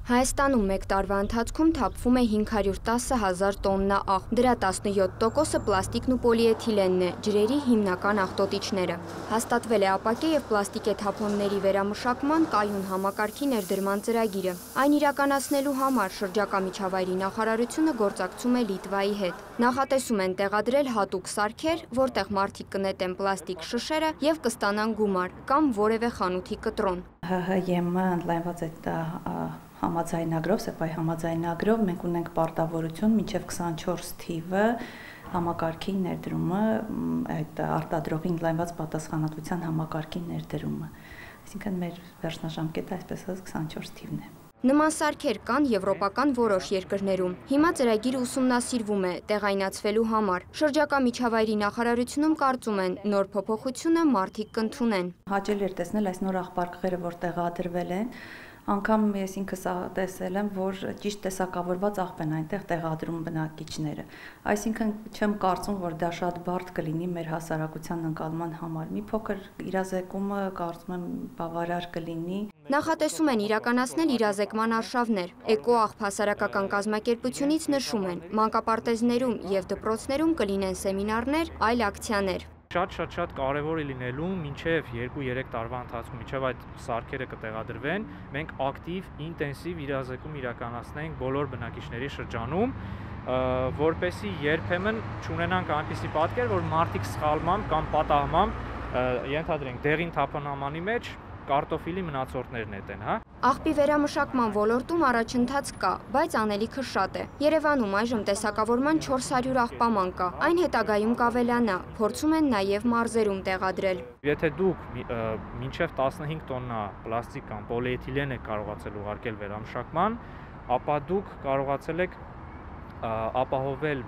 Հայաստանում մեկ տարվա ընթացքում թափվում է 510,000 տոննա աղ, դրա 17%-ը պլաստիկն ու պոլիէթիլենն է, ջրերի հիմնական աղտոտիչները։ Հաստատվել է ապակե և պլաստիկե թափոնների վերամշակման կայուն համակարգի ներդրման ծրագիրը։ Այն իրականացնելու համար շրջակա միջավայրի նախարարությունը գործակցում է Լիտվայի հետ։ Նախատեսում են տեղադրել հատուկ սարքեր, որտեղ մարդիկ կնետեն պլաստիկ շշերը և կստանան գումար կամ որևէ խանութի կտրոն։ ՀՀ-ԵՄ ընդլայնված համաձայնագրով, ՍԵՊԱ-ի համաձայնագրով մենք ունենք պարտավորություն մինչև 24 թիվը համակարգի ներդրումը, այդ արտադրողի ընդլայնված պատասխանատվության համակարգի ներդրումը։ Այսինքն մեր վերջնաժամկետը այսպես ասած 24 թիվն է։ Նման սարքեր կան եվրոպական որոշ երկրներում։ Հիմա ծրագիրը ուսումնասիրվում է տեղայնացվելու համար։ Շրջակա միջավայրի նախարարությունում կարծում են, նոր փոփոխությունը մարդիկ կընդունեն։ Հաճելի էր տեսնել այս նոր աղբարկղերը, որ տեղադրվել են, անգամ ես ինքս տեսել եմ, որ ճիշտ տեսակավորված աղբ են այնտեղ տեղադրում բնակիչները։ Այսինքն չեմ կարծում, որ դա շատ բարդ կլինի մեր հասարակության ընկալման համար։ Մի փոքր իրազեկումը կարծում եմ բավարար կլինի։ Նախատեսում են իրականացնել իրազեկման արշավներ։ Էկոաղբ հասարակական կազմակերպությունից նշում են, մանկապարտեզներում և դպրոցներում կլինեն սեմինարներ, այլ ակցիաներ։ Շատ կարևոր է լինելու մինչև 2-3 տարվա ընթացքում, մինչև այդ սարքերը կտեղադրվեն, մենք ակտիվ, ինտենսիվ իրազեկում իրականացնենք բոլոր բնակիչների շրջանում, որպեսզի երբեմն չունենանք այնպիսի պատկեր, որ մարդիկ սխալմամբ կամ պատահմամբ ենթադրենք դեղին թափանամանի մեջ կարտոֆիլի մնացորդներ նետեն, հա։ Աղբի վերամշակման ոլորտում առաջընթաց կա, բայց անելիքը շատ է։ Երևանում այժմ տեսակավորման 400 աղբաման կա, այն հետագայում կավելանա, փորձում են նաև մարզերում տեղադրել։ Եթե դուք մինչև 15 տոննա պլաստիկ կամ պոլիէթիլեն եք կարողացել ուղարկել վերամշակման, ապա դուք կարողացել եք ապահովել,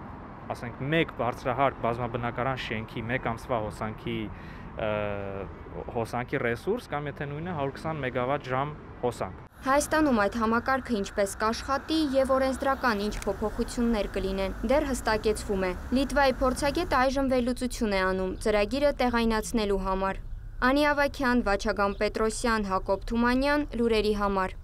ասենք, մեկ բարձրահարկ բազմաբնակարան շենքի մեկ ամսվա հոսանքի ռեսուրս կամ եթե նույնը 120 մեգավատ ժամ հոսանք։ Հայաստանում այդ համակարգը ինչպես կաշխատի և օրենսդրական ինչ փոփոխություններ կլինեն, դեռ հստակեցվում է։ Լիտվայի փորձագետը այժմ վերլուծություն է անում ծրագիրը տեղայնացնելու համար։ Անի Ավագյան, Վաչագան Պետրոսյան, Հակոբ Թումանյան, լուրերի համար։